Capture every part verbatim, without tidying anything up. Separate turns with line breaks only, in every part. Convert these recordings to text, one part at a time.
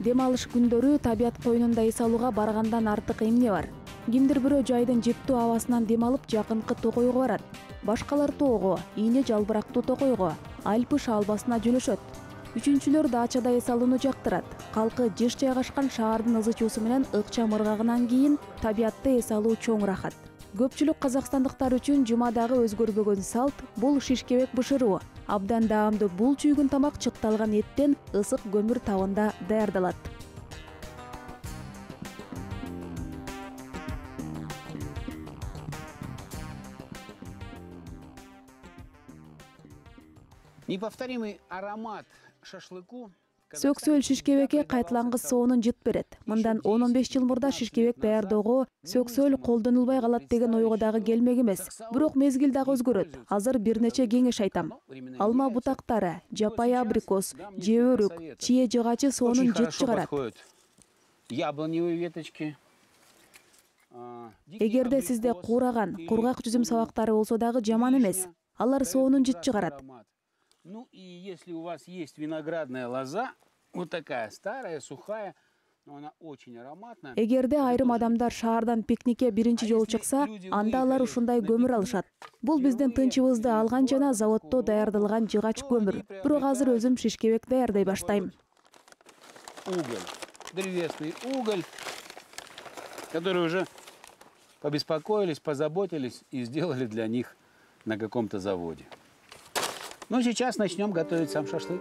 Дем алыш күндөрү табият коюнунда эс алууга баргандан артык эмне бар? Кимдир бирөө жайдын жептүү абасынан дем алып жакынкы токойго барат. Башкалар тоого, ийне жалбырактуу токойго, Альпы шаалбасына жөнөшөт. Үчүнчүлөр дачада эс алууну жактырат. Калкы жыш жайгашкан шаардын ызы чуусу менен ыкчам ыргагынан кийин табиятты эс алуу чоң рахат. Көпчүлүк казакстандыктар үчүн жумадагы өзгөрбөгөн салт бул шишкебек бышыруу. Абдан даамдуу бул чүйгүн тамак чыкталган эттен ысык көмүр табында даярдалат.
Неповторимый аромат шашлыку.
Сөксөл шишкебекке кайталангыс соонун жыт берет. Мындан он он беш жыл мурда шишкебек даярдоого сөксөл колдонулбай калат деген ойго дагы келмек эмес. Бирок мезгил дагы өзгөрөт. Азыр бир нече кеңеш айтам. Алма бутактары, жапай абрикос, же өрүк, чие жыгачы соонун жыт чыгарат.
Яблоневые веточки.
Эгерде сизде куураган, кургак жүзүм сабактары болсо дагы жаман эмес. Алар соонун жыт чыгарат.
Ну и если у вас есть виноградная лоза, вот такая старая, сухая, но она очень ароматная.
Эгерде айрым адамдар шаардан пикникке биринчи жолу чыкса, анда алар ушундай көмүр алышат. Бул биздин тынчыбызды алган жана заводдо даярдалган жыгач көмүр. Бирок азыр өзүм шишкебек даярдай баштайм.
Уголь, древесный уголь, который уже побеспокоились, позаботились и сделали для них на каком-то заводе. Ну, сейчас начнем готовить сам шашлык.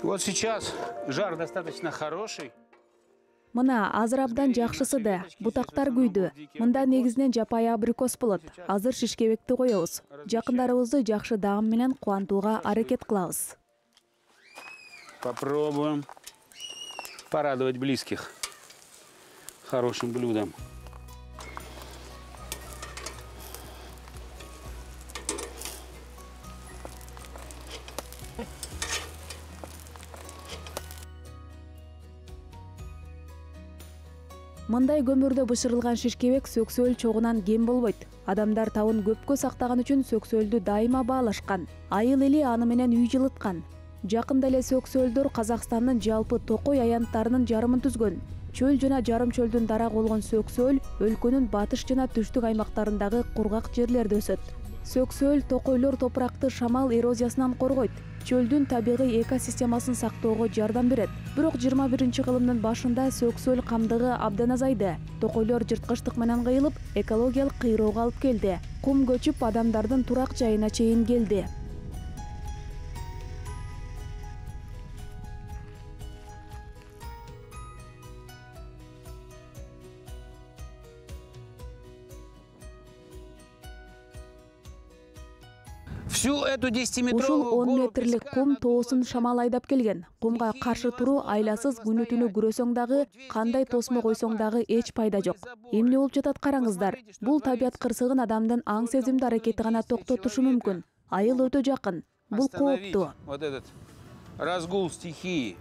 Вот сейчас жар достаточно хороший.
Мына азыр абдан жакшысы да, бутактар күйдү. Мында негизинен жапай абрикос болот. Азыр шишкебекти коебуз. Жакындарыбызды жакшы даам менен кубантууга аракет кылабыз.
Попробуем порадовать близких хорошим блюдом.
Мындай көмүрдө бышырылган шишкебек сөксөл чогунан кем болбойт. Адамдар табын көпкө сактаган үчүн сөксөлдү дайыма баалашкан. Айыл эли аны менен үй жылыткан. Жакында эле сөксөлдөр Казакстандын жалпы токой аянттарынын жарымын түзгөн. Чөл жана жарым чөлдүн дарагы болгон сөксөл өлкөнүн батыш жана түштүк аймактарындагы кургак жерлерде өсөт. Сөксөл токойлор топуракты шамал эрозиясынан коргойт. Чөлдүн табигый экосистемасын сактоого жардам берет. Бирок жыйырма биринчи кылымдын башында сөксөл камдыгы абдан азайды. Токойлор жырткычтык менен кыйылып, экологиялык кыйроого алып келди. Кум көчүп адамдардын турак жайына чейин келди. Ушул он метрлик кум тоосун шамал айдап келген. Кумга каршы туруу айласыз күнү түнү күрөсөң дагы, кандай тосмо койсоң дагы эч пайда жок. Эмне болуп жатат караңыздар. Бул табият кырсыгын адамдын аң сезимдүү аракети гана токтотушу мүмкүн. Айыл өтө жакын. Бул кооптуу.
Вот этот разгул стихии,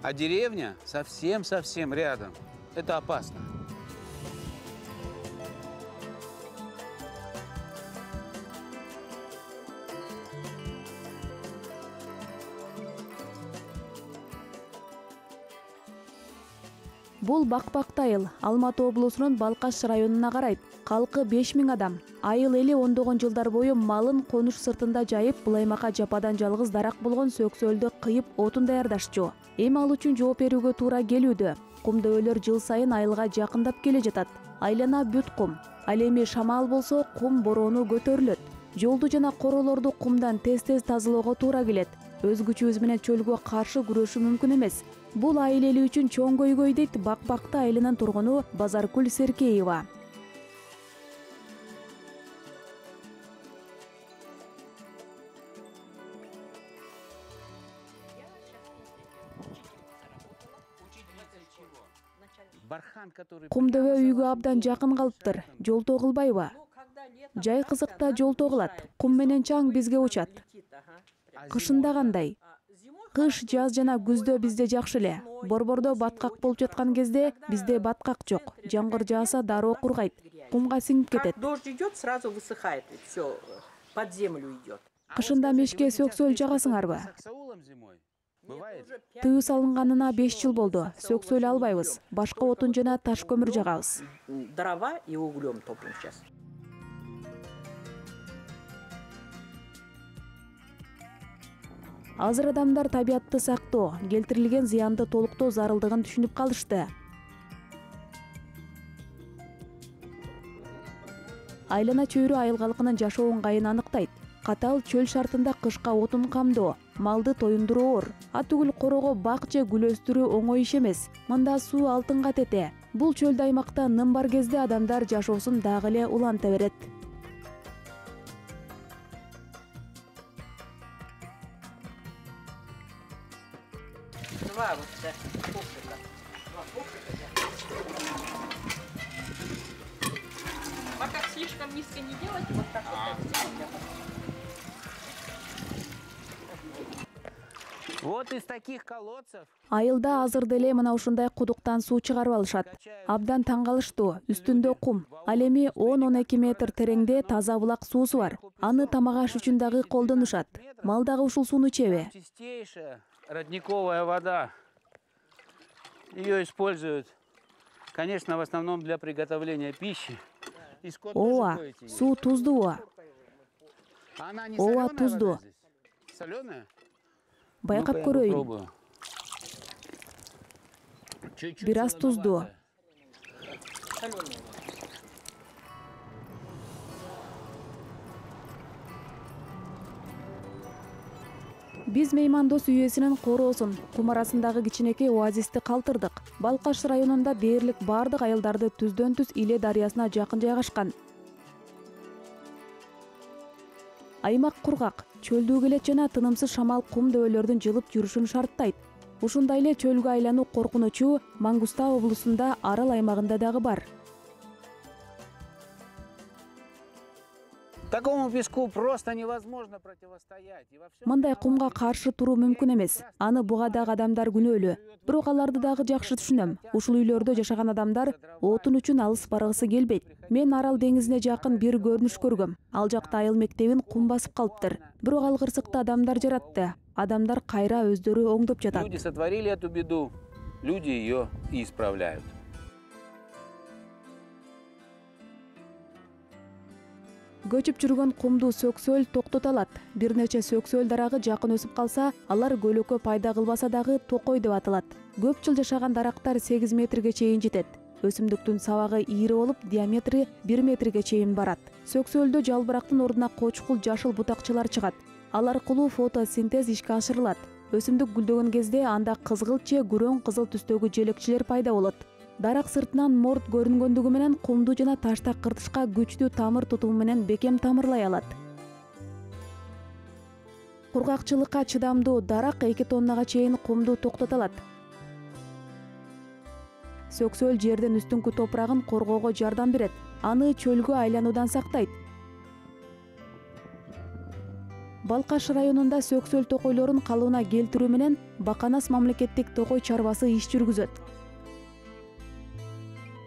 а деревня совсем-совсем рядом. Это опасно.
Бул Бакбакты айыл, Алматы облусунун Балкаш районуна карайт. Калкы беш миң адам. Айыл эли ондогон жылдар бою малын конуш сыртында жайып, бул аймакка жападан жалгыз дарак болгон сөксөлдү кыйып отун даярдашчу. Эми ал үчүн жооп берүүгө туура келүүдө. Кум дөөлөр жыл сайын айылга жакындап келе жатат. Айлана бүт кум. Ал эми шамал болсо кум бороону көтөрүлөт. Жолду жана королорду кумдан тез-тез тазалоого туура келет. Өз күчүбүз менен чөлгө каршы күрөшүү мүмкүн эмес. Бул айыл эли үчүн чоң көйгөй дейт Бакбакты айылынын тургуну Базаркүл Серкеева. Кумдөбө үйгө абдан жакын калыптыр. Жолтоо кылбайбы? Жай кызыкта жолтоо кылат. Кум менен чаң бизге учат. Кышында кандай? Кыш, жаз жана күздө бизде жакшы эле. Борбордо баткак болуп жаткан кезде бизде баткак жок. Жамгыр жааса дароо кургайт. кумга сиңип кетет.
Как дождь идет, сразу высыхает, все под землю идет.
Кышында мешке сөксөл жагасыңарбы?
Саксаулом зимой. Бывает?
Тыюу салынганына беш жыл болду. Сөксөл албайбыз. Башка отун жана таш көмүр жагабыз.
Дрова и углем топим сейчас.
Азыр адамдар табиятты сактоо, келтирилген зыянды толуктоо зарылдыгын түшүнүп калышты. Айлана чөйрө айыл калкынын жашоо ыңгайын аныктайт. Катал чөл шартында кышка отун камдоо, малды тоюндуруу оор. Атүгүл корого бак же гүл өстүрүү оңой иш эмес. Мында суу алтынга тете. Бул чөлдө аймакта ным бар кезде адамдар жашоосун дагы эле уланта берет.
Два вот да, коврика. Два коврика. Пока слишком низко не делать, вот так вот.
Вот из таких колодцев.
Айылда азыр деле мына ушундай кудуктан суу чыгарып алышат. Абдан таң калыштуу, үстүндө кум. Ал эми он он эки метр тереңде таза булак суусу бар. Аны тамак аш үчүн дагы колдонушат. Мал дагы ушул сууну чеби.
Чистейшая родниковая вода. Ее используют, конечно, в основном для приготовления пищи. И скот тоже
Ооба,
доить её.
суу туздуу.
Она не
Ооба,
солёная
туздуу.
вода здесь? Солёная?
Байкап
Ну-ка, я
көрөйүн.
попробую. Чуть-чуть
Бир аз туздуу.
солоноватая.
Соленые.
Биз меймандос үйесинин короосун, кум арасындагы кичинекей оазисти калтырдык. Балкаш районунда дээрлик бардык айылдарды түздөн түз Иле дарыясына жакын жайгашкан. Аймак кургак, чөлдүү келет жана тынымсыз шамал кум дөбөлөрдүн жылып жүрүшүн шарттайт. Ушундай эле чөлгө айлануу коркунучу Мангустау облусунда Арал аймагында дагы бар.
Такому песку просто невозможно противостоять. И во всем
Мындай
виноваты
кумга каршы туруу мүмкүн эмес. Аны бугадагы адамдар күнөөлүү. Бирок аларды дагы жакшы түшүнөм. Ушул үйлөрдө жашаган адамдар отун үчүн алыс баргысы келбейт. Мен Арал деңизине жакын бир көрүнүш көргөм. Ал жакта айыл мектебин кум басып калыптыр. Бирок ал кырсыкты адамдар жаратты. Адамдар кайра өздөрү оңдоп жатат.
Люди сотворили эту беду, люди ее и исправляют.
Көчүп жүргөн кумду сөксөл токтото алат. Бир нече сөксөл дарагы жакын өсүп калса, алар көлөкө пайда кылбаса дагы токой деп аталат. Көп жыл жашаган дарактар сегиз метрге чейин жетет. Өсүмдүктүн сабагы ийри болуп, диаметри бир метрге чейин барат. Сөксөлдө жалбырактын ордуна кочкул жашыл бутакчалар чыгат. Ал аркылуу фотосинтез ишке ашырылат. Өсүмдүк гүлдөгөн кезде анда кызгылт же күрөң кызыл түстөгү желекчилер пайда болот. Дарак сыртынан морд көрүнгөндүгү менен кумду жана таштак кыртышка күчтүү тамыр тутуму менен бекем тамырлай алат. Кургакчылыкка чыдамдуу дарак эки тоннага чейин кумду токтото алат. Сөксөл жердин үстүңкү топурагын коргоого жардам берет. Аны чөлгө айлануудан сактайт. Балкаш районунда сөксөл токойлорун калыбына келтирүү менен Баканас мамлекеттик токой чарбасы иш жүргүзөт.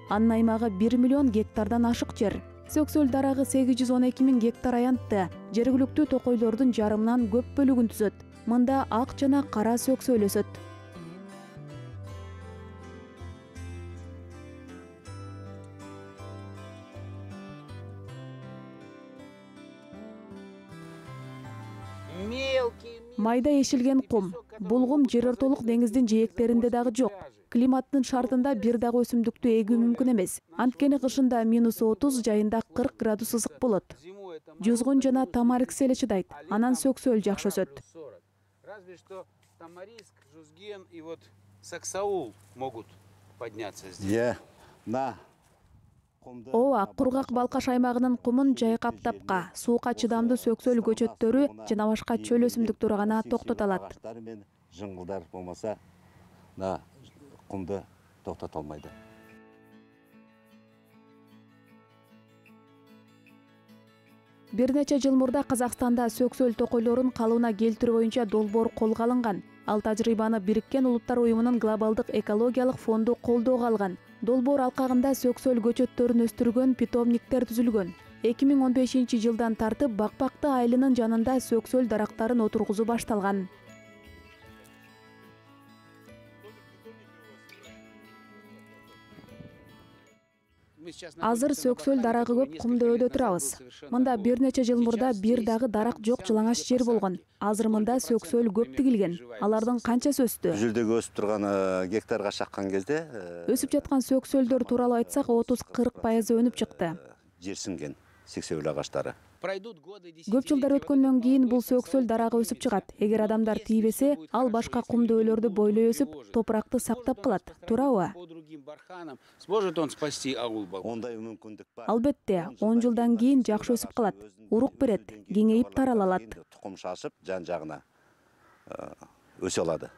Анын аймагы бир миллион гектардан ашык жер. Сөксөл дарагы сегиз жүз он эки миң гектар аянтты. Жергиликтүү токойлордун жарымынан көп бөлүгүн түзөт. Мында ак жана кара сөксөл өсөт. Майда ешилген кум. Бул кум жер ортолук деңиздин жээктеринде дагы жок. Климаттын шартында бир дагы өсүмдүктү эгүү мүмкүн эмес. Анткени кышында минус отуз, жайында кырк градус ысык болот. Жузгун жана тамариск эле чыдайт. Анан сөксөл жакшы өсөт.
Разве что тамариск, жузген и вот саксаул могут подняться здесь.
Е, на.
Ооба, кургак Балкаш аймагынын кумун жайкап тапка, сууга чыдамдуу сөксөл көчөттөрү жана башка чөл өсүмдүктөрү гана токтото алат.
Жыңгылдар болмаса, на кумду токтото албайт.
Бир нече жыл мурда Казакстанда сөксөл токойлорун калыбына келтирүү боюнча долбоор колго алынган. Ал тажрыйбаны Бириккен Улуттар уюмунун глобалдык экологиялык фонду колдоого алган. Долбоор алкагында сөксөл көчөттөрүн өстүргөн питомниктер түзүлгөн. эки миң он бешинчи жылдан тартып Бакбакты айылынын жанында сөксөл дарактарын отургузуу башталган. Азыр сөксөл дарагы көп кумдөбөдө турабыз. Мында бир нече жыл мурда бир дагы дарак жок жылаңач жер болгон. Азыр мында сөксөл көп тигилген. Алардын канчасы өстү?
Жүлдөгө өсүп турган гектарга чаккан кезде
Өсүп жаткан сөксөлдөр тууралуу айтсак, отуз кырк пайызы өнүп чыкты.
жерсинген сексеүл агаштары.
Көп жылдар өткөндөн кийин бул сөксөл дарагы өсүп чыгат. Эгер адамдар тийбесе, ал башка кумдөөлөрдү бойлой өсүп, топуракты сактап калат. Туурабы?
Сможет он спасти аул?
Ондай мүмкүндүк бар.
Албетте, он жылдан кийин жакшы өсүп калат. Урук берет, кеңейип тарала алат.
Тукум шашып, жан жагына өсө алады.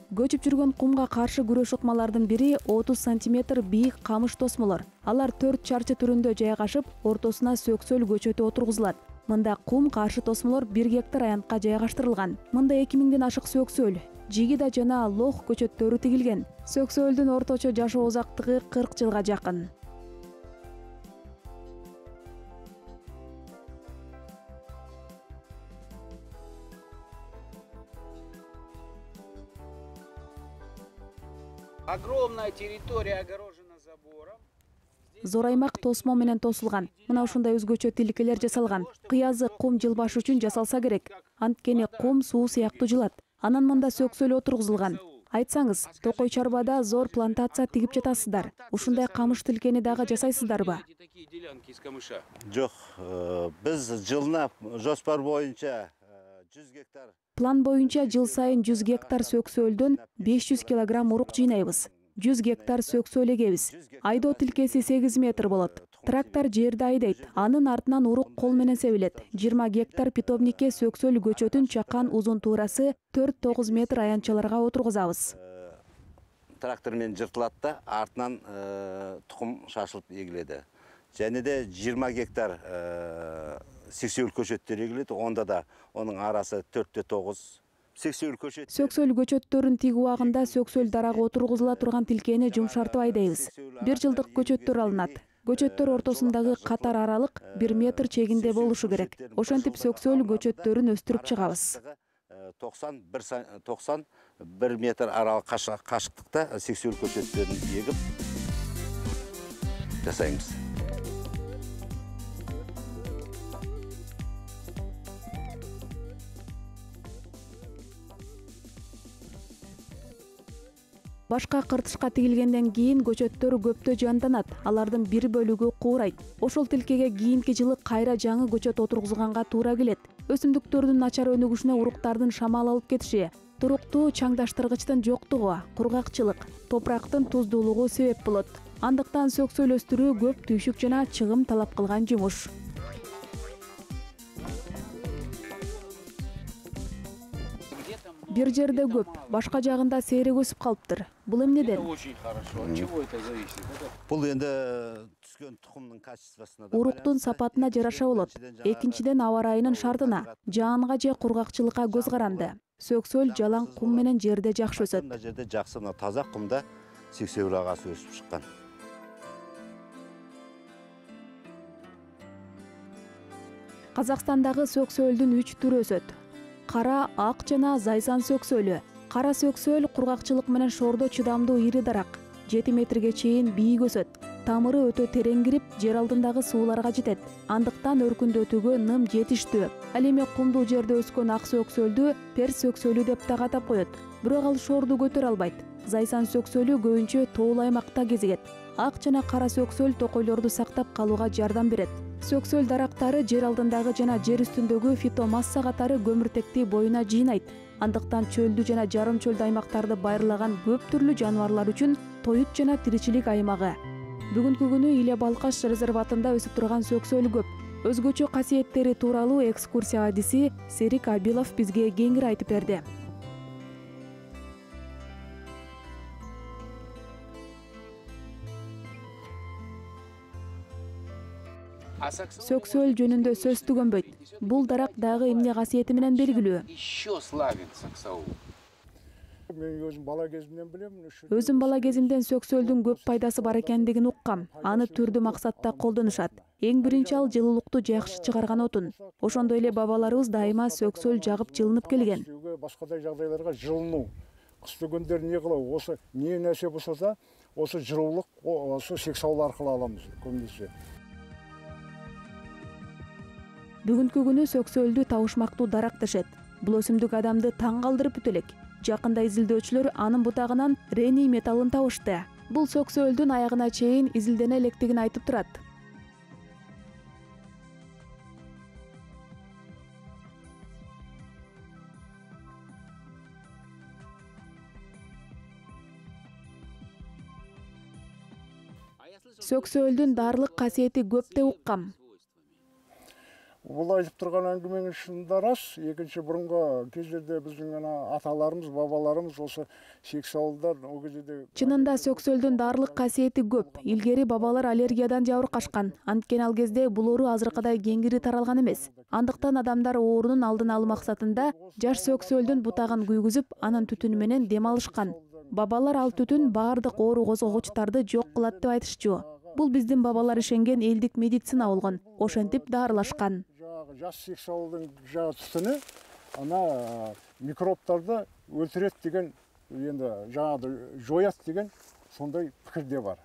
Көчүп жүргөн кумга каршы күрөш ыкмалардын бири отуз сантиметр бийик камыш тосмолор. Алар төрт чарчы түрүндө жайгашып, ортосуна сөксөл көчөтү отургузулат. Мында кум каршы тосмолор бир гектар аянтка жайгаштырылган. Мында эки миңден ашык сөксөл, жигида жана лох көчөттөрү тигилген. Сөксөлдүн орточо жашоо узактыгы кырк жылга жакын.
Огромная территория огорожена забором.
Зор аймак тосмо менен тосулган. Мына ушундай өзгөчө тилкелер жасалган. Кыязы кум жылбаш үчүн жасалса керек. Анткени кум суу сыяктуу жылат. Анан мында сөксөл отургузулган. Айтсаңыз, Токой Чарбада зор плантация тигип жатасыздар. Ушундай камыш тилкени дагы жасайсыздарбы?
Жок, биз жылына жоспар боюнча жүз гектар.
План боюнча жыл сайын жүз гектар сөксөлдөн беш жүз килограмм урук жыйнайбыз. жүз гектар сөксөл эгебиз. Айдоо тилкеси сегиз метр болот. Трактор жерди айдайт. Анын артынан урук кол менен себилет. жыйырма гектар питомникке сөксөл көчөтүн чаккан узун туурасы төрт тогуз метр аянтчаларга отургузабыз.
Трактор менен жыртылат да, артынан тукум шашылып эгиледи. Және де жыйырма гектар сексеүл көчөттөр эгилет. Онда да онун арасы төрттө тогуз.
Сөксөл көчөттөрүн тигүү убагында сөксөл дарагы отургузула турган тилкени жумшартып айдайбыз. Бир жылдык көчөттөр алынат. Көчөттөр ортосундагы катар аралык бир метр чегинде болушу керек. Ошентип сөксөл көчөттөрүн өстүрүп чыгабыз.
токсон бир метр аралык кашыктыкта сексеүл көчөттөрүн эгип жасайбыз.
Башка кыртышка тигилгенден кийин көчөттөр көптө жанданат. Алардын бир бөлүгү куурайт. Ошол тилкеге кийинки жылы кайра жаңы көчөт отургузганга туура келет. Өсүмдүктөрдүн начар өнүгүшүнө уруктардын шамал алып кетиши, туруктуу чаңдаштыргычтын жоктугу, кургакчылык, топурактын туздуулугу себеп болот. Андыктан сөксөл өстүрүү көп түйшүк жана чыгым талап кылган жумуш. Бир жерде көп, башка жагында сейрек өсүп калыптыр. Бул эмнеден?
Очень хорошо. От чего это зависит?
Бул энди түскөн тукумдун качествосуна да.
Уруктун сапатына жараша болот. Экинчиден аба ырайынын шартына, жаанга же кургакчылыкка көз каранды. Сөксөл жалаң кум менен жерде жакшы өсөт.
Мына жерде жакшы мына таза кумда сексеүл агасы өсүп чыккан.
Казакстандагы сөксөлдүн үч түрү өсөт. Кара, ак жана зайсан сөксөлү. Кара сөксөл кургакчылык менен шоордо чыдамдуу ири дарак. жети метрге чейин бийик өсөт. Тамыры өтө терең кирип, жер алдындагы сууларга жетет. Андыктан өркүндөтүүгө ным жетиштүү. Ал эми кумдуу жерде өскөн ак сөксөлдү перс сөксөлү деп да атап коет. Бирок ал шоорду көтөрө албайт. Зайсан сөксөлү көбүнчө тоол аймакта кезигет. Ак жана кара сөксөл токойлорду сактап калууга жардам берет. Сөксөл дарактары жер алдындагы жана жер үстүндөгү фитомасса катары көмүртекти боюна жыйнайт. Андыктан чөлдү жана жарым чөлдү аймактарды байырлаган көп түрлүү жаныбарлар үчүн тоют жана тиричилик аймагы. Бүгүнкү күнү Иле Балкаш резерватында өсүп турган сөксөл көп. Өзгөчө касиеттери тууралуу экскурсия адиси Серик Абилов бизге кеңири айтып берди. Сөксөл жөнүндө сөз түгөнбөйт. Бул дарак дагы эмне касиети менен белгилүү.
Еще славен саксаул.
Мен өзүм бала кезимден билем.
Өзүм бала кезимден сөксөлдүн көп пайдасы бар экендигин уккам. Аны түрдүү максатта колдонушат. Эң биринчи ал жылуулукту жакшы чыгарган отун. Ошондой эле бабаларыбыз дайыма сөксөл жагып жылынып келген.
Башкадай жагдайларга жылынуу. Кышты күндөрү эмне кылабы? Осы эмне нерсе болсо да, осы жылуулук, осы сексаул аркылуу аламыз көбүнесе.
Бүгүнкү күнү сөксөлдү табышмактуу дарак дешет. Бул өсүмдүк адамды таң калтырып бүтө элек. Жакында изилдөөчүлөр анын бутагынан рений металлын табышты. Бул сөксөлдүн аягына чейин изилдене электигин айтып турат. Сөксөлдүн даарылык касиети көп деп уккам.
Бул айтып турган әңгімеңіз шынында рас. Екінші бұрынғы кездерде біздің аталарымыз, бабаларымыз осы сексаулдар о кездерде.
Чынында сөксөлдүн даарылык касиети көп. Илгери бабалар аллергиядан жабыркашкан. Анткени ал кезде бул оору азыркыдай кеңири таралган эмес. Андыктан адамдар оорунун алдын алуу максатында жаш сөксөлдүн бутагын күйгүзүп, анын түтүнү менен дем алышкан. Бабалар ал түтүн баардык оору козгогучтарды жок кылат деп айтышчу. Бул биздин бабалар ишенген элдик медицина болгон. Ошентип даарылашкан.
Жас сексаулдың жағы түтіні ана микробтарды өлтірет деген, енді жаңағы жоят деген сондай пікірде бар.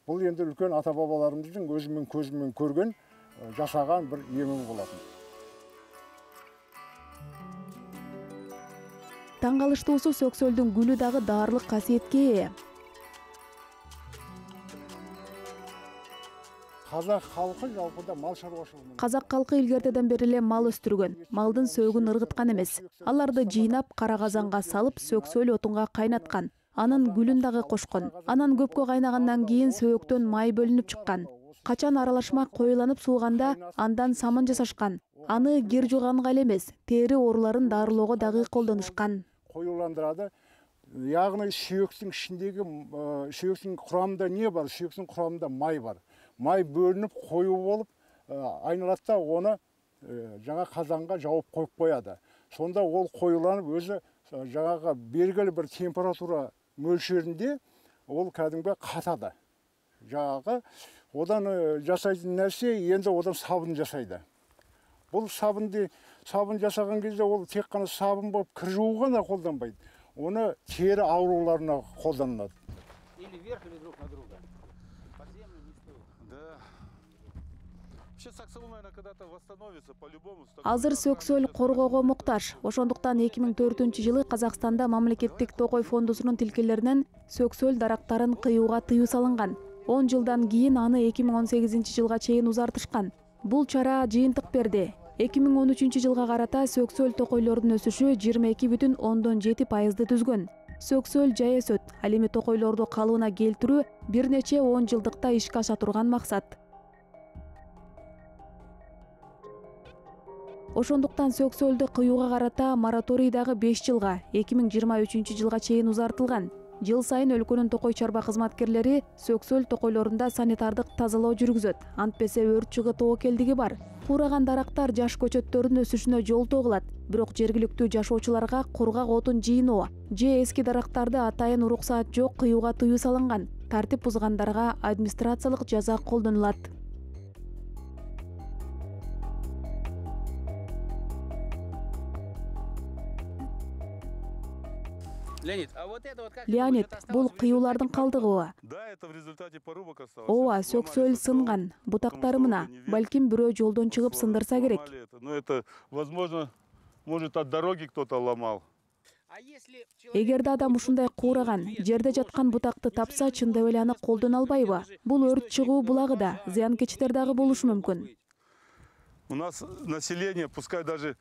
Бұл енді үлкен ата-бабаларымыздың өзімен көзімен көрген, жасаған бір емін болатын.
Таң калыштуусу сөксөлдүн гүлү дагы даарылык касиетке ээ.
Казак халкы жалпыда мал шаруашылыгы.
Казак халкы илгертеден бери эле мал өстүргөн. Малдын сөөгүн ыргыткан эмес. Аларды жыйнап кара казанга салып сөксөл отунга кайнаткан. Анын гүлүн дагы кошкон. Анан көпкө кайнагандан кийин сөөктөн май бөлүнүп чыккан. Качан аралашма коюланып сууганда андан самын жасашкан. Аны кир жууганга эле эмес, тери ооруларын дарылоого дагы колдонушкан.
Коюландырады. Яғни сүйөктүн ичиндеги сүйөктүн курамында не бар? Сүйөктүн курамында май бар. Май бөлініп қою болып, айналатта оны жаңа қазанға жауып қойып қояды. Сонда ол қойыланып өзі жаңаға белгілі бір температура мөлшерінде ол кәдімгі қатады. Жаңағы одан жасайтын нәрсе енді одан сабын жасайды. Бұл сабынды сабын жасаған кезде ол тек қана сабын болып кір жууға да қолданбайды. Оны тері ауруларына қолданылады.
Или вверх, или друг на друга.
Азыр сөксөл коргоого муктаж. Ошондуктан эки миң төртүнчү жылы Казакстанда мамлекеттик токой фондусунун тилкелеринен сөксөл дарактарын кыюуга тыюу салынган. он жылдан кийин аны эки миң он сегизинчи жылга чейин узартышкан. Бул чара жыйынтык берди. эки миң он үчүнчү жылга карата сөксөл токойлордун өсүшү жыйырма эки бүтүн ондон жети пайызды түзгөн. Сөксөл жай өсөт. Ал эми токойлорду калыбына келтирүү бир нече он жылдыкта ишке аша турган максат. Ошондуктан сөксөлдү кыюуга карата мораторий дагы беш жылга, эки миң жыйырма үчүнчү жылга чейин узартылган. Жыл сайын өлкөнүн токой чарба кызматкерлери сөксөл токойлорунда санитардык тазалоо жүргүзөт. Антпесе өрт чыгуу тобокелдиги бар. Кураган дарактар жаш көчөттөрдүн өсүшүнө жолтоо кылат. Бирок жергиликтүү жашоочуларга кургак отун жыйноо же эски дарактарды атайын уруксаат жок кыюуга тыюу салынган. Тартип бузгандарга администрациялык жаза колдонулат.
Леонид, а вот это вот как
Леонид, бул кыюулардын калдыгыбы? Ооба, сөксөл сынган. Бутактары мына. Балким бирөө жолдон чыгып сындырса керек.
Ну это, возможно, может от дороги кто-то ломал.
Эгерде адам ушундай куураган, жерде жаткан бутакты тапса, чындап эле аны колдоно албайбы? Бул өрт чыгуу булагы да, зыянкечтер дагы болушу мүмкүн.
У нас население, пускай даже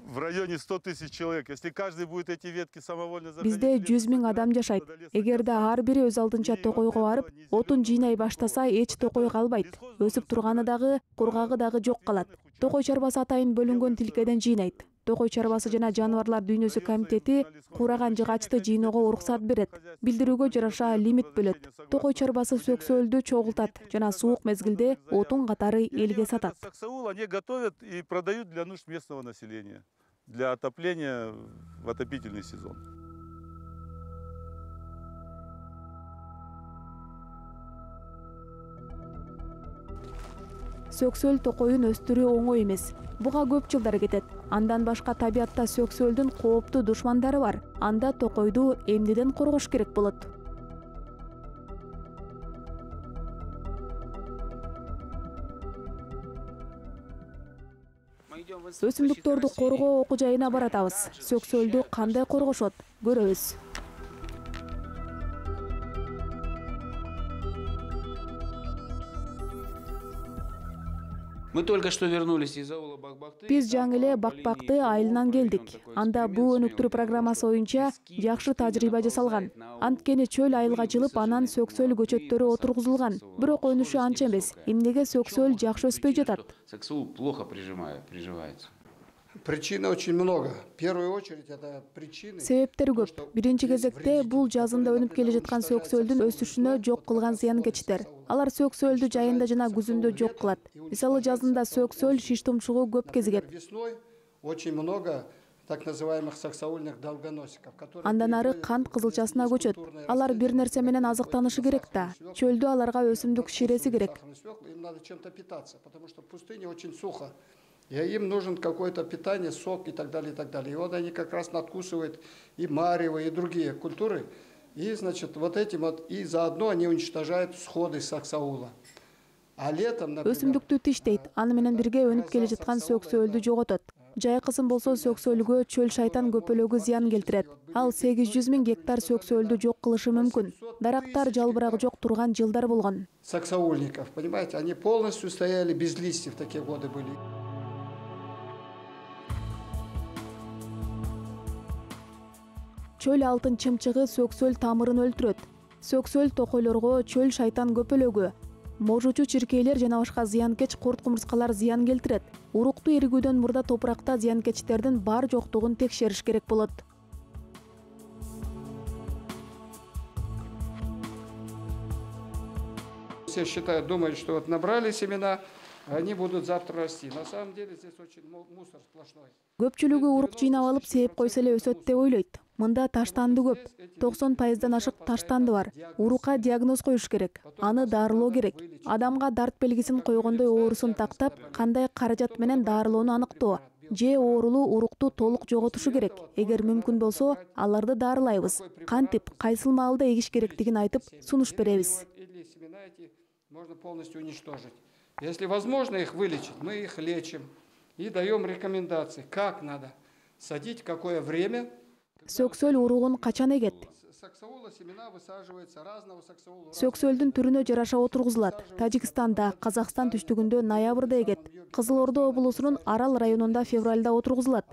в районе сто тысяч человек. Если каждый будет эти ветки самовольно заходить.
Бизде жүз миң адам жашайт. Эгерде ар бири өз алдынча токойго барып, отун жыйнай баштаса, эч токой калбайт. Өсүп турганы дагы, кургагы дагы жок калат. Токой чарбасы атайын бөлүнгөн тилкеден жыйнайт. Токой чарбасы жана жаныбарлар дүйнөсү комитети куураган жыгачты жыйноого уруксат берет. Билдирүүгө жараша лимит бөлөт. Токой чарбасы сөксөлдү чогултат жана суук мезгилде отун катары элге сатат.
Саксаул они готовят и продают для нужд местного населения, для отопления в отопительный сезон.
Сөксөл токоюн өстүрүү оңой эмес. Буга көп жылдар кетет. Андан башка табиатта сөксөлдүн кооптуу душмандары бар. Анда токойду эмнеден коргош керек болот? Өсүмдүктөрдү коргоо окуу жайына баратабыз. Сөксөлдү кандай коргошот? Көрөбүз.
Мы только что вернулись из аула Бакбакты.
Биз жаңы эле Бакбакты айылынан келдик. Анда буу өнүктүрүү программасы боюнча жакшы тажрыйба жасалган. Анткени чөл айылга жылып, анан сөксөл көчөттөрү отургузулган. Бирок өнүшү анча эмес. Эмнеге сөксөл жакшы өспөй жатат?
Саксаул плохо приживается.
Причин очень много. В первую очередь это причины.
Себептери көп. Биринчи кезекте бул жазында өнүп келе жаткан сөксөлдүн өсүшүнө жок кылган зыянкечтер. Алар сөксөлдү жайында жана күзүндө жок кылат. Мисалы жазында сөксөл шиш тумшугу көп кезигет.
Весной очень много так называемых саксаульных долгоносиков, которые
Андан ары кант кызылчасына көчөт. Алар бир нерсе менен азыктанышы керек да. Чөлдө аларга өсүмдүк ширеси керек.
Им надо чем-то питаться, потому что в пустыне очень сухо. И им нужен какое-то питание, сок и так далее, и так далее. И вот они как раз надкусывают и марево, и другие культуры. И, значит, вот этим вот, и заодно они уничтожают всходы саксаула. А летом, например...
Өсүмдүктү тиштейт, аны менен бирге өнүп келе жаткан сөксөлдү жоготот. Жайкысын болсо сөксөлгө чөл шайтан көпөлөгү зыян келтирет. Ал сегиз жүз миң гектар сөксөлдү жок кылышы мүмкүн. Дарактар жалбырак жок турган жылдар болгон.
Саксаульников, понимаете, они полностью стояли без листьев, такие годы были.
Чөл алтын чымчыгы сөксөл тамырын өлтүрөт. Сөксөл токойлорго, чөл шайтан көпөлөгү, можучу чиркейлер жана башка зыянкеч курт-кумурскалар зыян келтирет. Урукту эригүүдөн мурда топуракта зыянкечтердин бар жоктугун текшериш керек болот.
Все считают, думают, что вот набрали семена, они будут завтра расти. На самом деле здесь очень мусор сплошной.
Көпчүлүгү урук жыйнап алып сээп койсо эле өсөт деп ойлойт. Мында таштанды көп. токсон пайыздан ашык таштанды бар. Урукка диагноз коюш керек. Аны дарылоо керек. Адамга дарт белгисин койгондой оорусун тактап, кандай каражат менен дарылоону аныктоо. Же оорулуу урукту толук жоготушу керек. Эгер мүмкүн болсо, аларды дарылайбыз. Кантип, кайсыл маалда эгиш керектигин айтып, сунуш беребиз.
Можно полностью уничтожить. Если возможно их вылечить, мы их лечим и даем рекомендации, как надо садить, в какое время.
Сөксөл уругун качан эгет? Сөксөлдүн түрүнө жараша отургузулат. Тажикстанда, Казакстан түштүгүндө ноябрда эгет. Кызыл Ордо облусунун Арал районунда февралда отургузулат.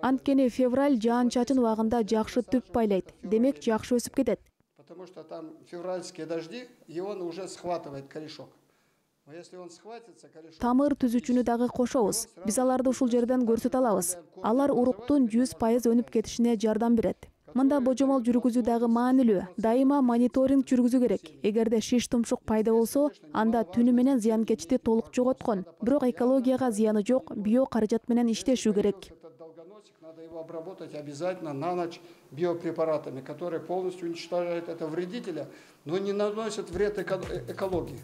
Анткени февраль жаан-чачын убагында жакшы түп байлайт. Демек жакшы өсүп кетет.
Потому что там февральские дожди, и он уже схватывает корешок. Но если он схватится, корешок...
Тамыр түзүчүнү дагы кошобуз. Биз аларды ушул жерден көрсөтө алабыз. Алар уруктун жүз пайыз өнүп кетишине жардам берет. Мында божомол жүргүзүү дагы маанилүү. Дайыма мониторинг жүргүзүү керек. Эгерде шиш тумшук пайда болсо, анда түнү менен зыянкечти толук жоготкон. Бирок экологияга зыяны жок, био каражат менен иштешүү керек.
Надо его обработать обязательно на ночь биопрепаратами, которые полностью уничтожают этого вредителя, но не наносят вред эко экологии.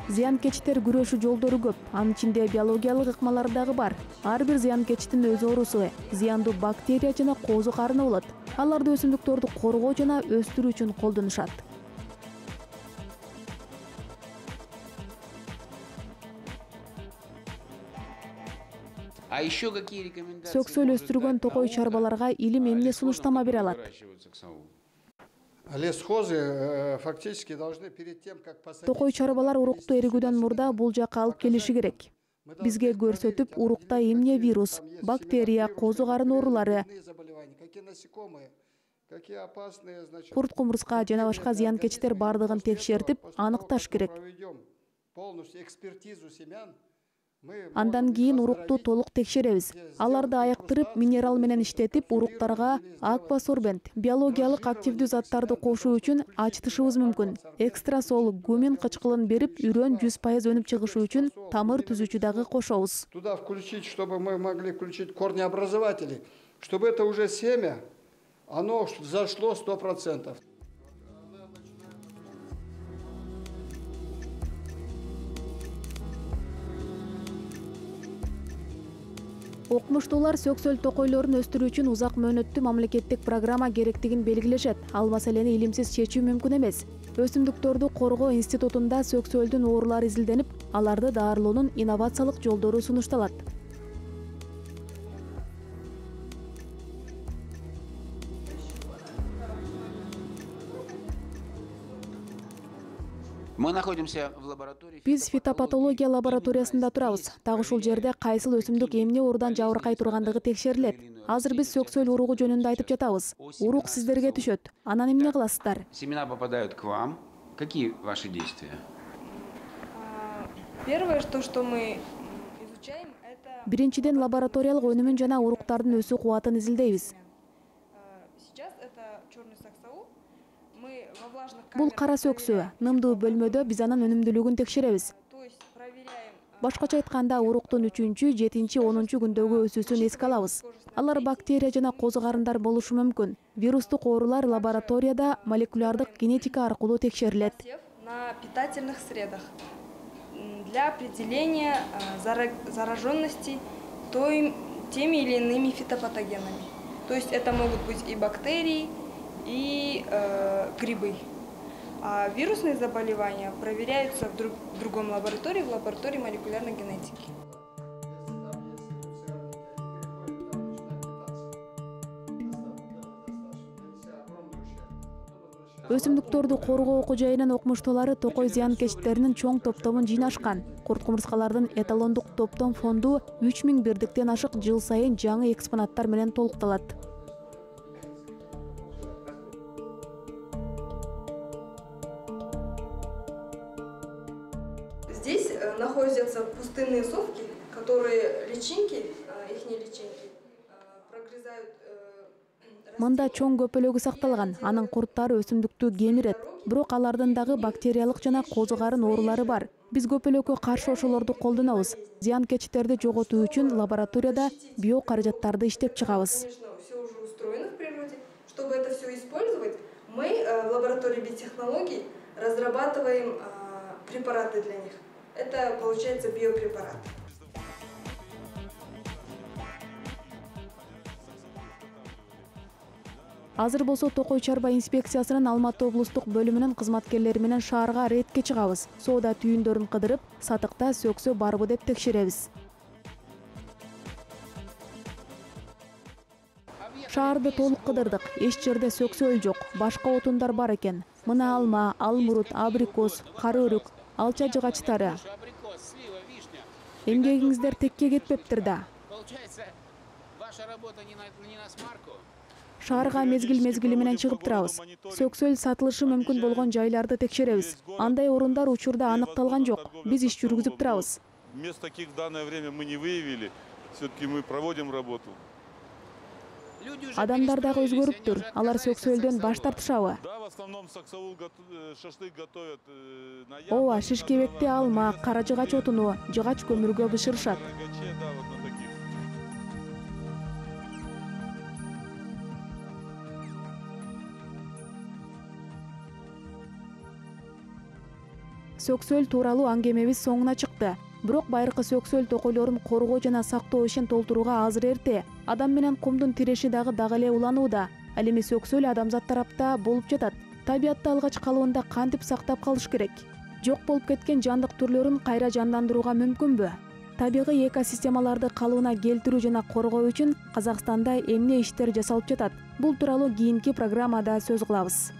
Зыянкечтер күрөшүү жолдору көп. Анын ичинде биологиялык ыкмалар дагы бар. Ар бир зыянкечтин өз оорусу, зыяндуу бактерия жана коозу карыны болот. Аларды өсүмдүктөрдү коргоо жана өстүрүү үчүн колдонушат. Сөксөл өстүргөн токой чарбаларга илим эмне сунуштама бере алат?
Лесхозы фактически должны перед тем, как посадить...
Токой чарбалар урукту эригүүдөн мурда бул жакка алып келиши керек. Бизге көрсөтүп, урукта эмне вирус, бактерия, коозу карыны оорулары, курт-кумурска жана башка зыянкечтер бардыгын текшертип, аныкташ керек.
полностью экспертизу семян.
Андан кийин урукту толук текшеребиз. Аларды айыктырып, минерал менен иштетип, уруктарга аквасорбент, биологиялык активдүү заттарды кошуу үчүн ачтышыбыз мүмкүн. Экстрасол, гумен кычкылын берип, үрөн жүз пайыз өнүп чыгышы үчүн тамыр түзүүчү дагы кошобуз.
Туда включить, чтобы мы могли включить корнеобразователи, чтобы это уже семя, оно зашло сто процентов.
Окумуштуулар сөксөл токойлорун өстүрүү үчүн узак мөөнөттүү мамлекеттик программа керектигин белгилешет. Ал маселени илимсиз чечүү мүмкүн эмес. Өсүмдүктөрдү коргоо институтунда сөксөлдүн оорулары изилденип, аларды даарылоонун инновациялык жолдору сунушталат.
Мы находимся в лаборатории.
Биз фитопатология лабораториясында турабыз. Так ушул жерде кайсыл өсүмдүк эмне оорудан жабыркай тургандыгы текшерилет. Азыр биз сөксөл уругу жөнүндө айтып жатабыз. Урук сиздерге түшөт. Анан эмне кыласыздар?
Семена попадают к вам. Какие ваши действия?
Первое, что, что мы изучаем, это...
Биринчиден лабораториялык өнүмүн жана уруктардын өсүү кубатын изилдейбиз.
Сейчас это черный саксаул. Мы во влажных
Бул
камерах
кара сөксөө. Нымдуу бөлмөдө биз анын өнүмдүүлүгүн текшеребиз.
То есть проверяем...
Башкача айтканда, уруктун үчүнчү, жетинчи, онунчу күндөгү өсүүсүн эске алабыз. Алар бактерия жана козу карындар болушу мүмкүн. Вирустук оорулар лабораторияда молекулярдык генетика аркылуу текшерилет.
На питательных средах для определения зараженности теми или иными фитопатогенами. То есть это могут быть и бактерии, и э, грибы. А вирусные заболевания проверяются в, друг, в другом лаборатории, в лаборатории молекулярной генетики.
Өсүмдүктөрдү коргоо окуу жайынын окумуштуулары токой зыянкечтеринин чоң топтомун жыйнашкан. Курт кумурскалардын эталондук топтом фонду үч миң бирдиктен ашык жыл сайын жаңы экспонаттар менен толукталат.
Здесь находятся пустынные совки, которые личинки, их личинки, прогрызают.
Мында чоң көпөлөгү сакталган, анын курттары өсүмдүктү кемирет. Бирок алардын дагы бактериялык жана козу карын оорулары бар. Биз көпөлөккө каршы ошолорду колдонобуз. Зыянкечтерди жоготуу үчүн лабораторияда био каражаттарды иштеп чыгабыз.
Все уже устроено в природе. Чтобы это все использовать, мы в лаборатории биотехнологий разрабатываем препараты для них. Это получается биопрепарат.
Азыр болсо Токой чарба инспекциясынын Алматы облустук бөлүмүнүн кызматкерлери менен шаарга рейдке чыгабыз. Соода түйүндөрүн кыдырып, сатыкта сөксө барбы деп текшеребиз. Шаарды толук кыдырдык. Эч жерде сөксөл жок. Башка отундар бар экен. Мына алма, алмурут, абрикос, кара өрүк, алча жыгачтары. Эмгегиңиздер текке кетпептир да. Шаарга мезгил-мезгили менен чыгып турабыз. Сөксөл сатылышы мүмкүн болгон жайларды текшеребиз. Андай орундар учурда аныкталган жок. Биз иш жүргүзүп турабыз.
Мест таких в данное время мы не выявили. Все-таки мы проводим работу.
Адамдар дагы өзгөрүптүр. Алар сөксөлдөн баш тартышабы?
Да, в основном саксаул шашлык готовят.
Ооба, шишкебекти алма, кара жыгач отуну, жыгач көмүргө бышырышат. Сөксөл тууралуу аңгемебиз соңуна чыкты. Бирок байыркы сөксөл токойлорун коргоо жана сактоо ишин толтурууга азыр эрте. Адам менен кумдун тиреши дагы дагы эле уланууда. Ал эми сөксөл адамзат тарапта болуп жатат. Табиатта алгач калыбында кантип сактап калыш керек? Жок болуп кеткен жандык түрлөрүн кайра жандандырууга мүмкүнбү? Табигый экосистемаларды калыбына келтирүү жана коргоо үчүн Казакстанда эмне иштер жасалып жатат? Бул тууралуу кийинки программада сөз кылабыз.